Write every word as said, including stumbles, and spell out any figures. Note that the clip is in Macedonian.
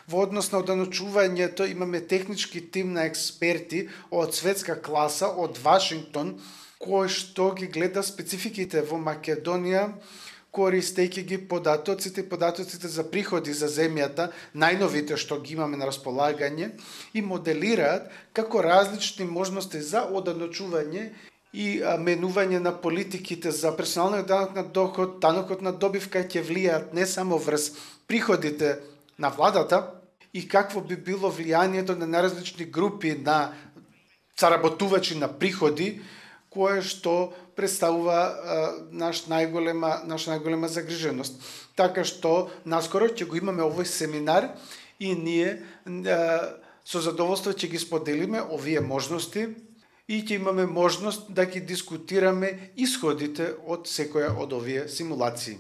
Во однос на оданочувањето имаме технички тим на експерти од светска класа од Вашингтон, кој што ги гледа спецификите во Македонија, користејќи ги податоците и податоците за приходи за земјата, најновите што ги имаме на располагање, и моделираат како различни можности за оданочување и менување на политиките за персоналниот данок на доход, данокот на добивка ќе влијаат не само врз приходите на владата и какво би било влијанието на наразлични групи на заработувачи на приходи, кое што представува а, наш најголема наш најголема загриженост. Така што наскоро ќе го имаме овој семинар и ние а, со задоволство ќе ги споделиме овие можности и ќе имаме можност да ги дискутираме исходите од секоја од овие симулации.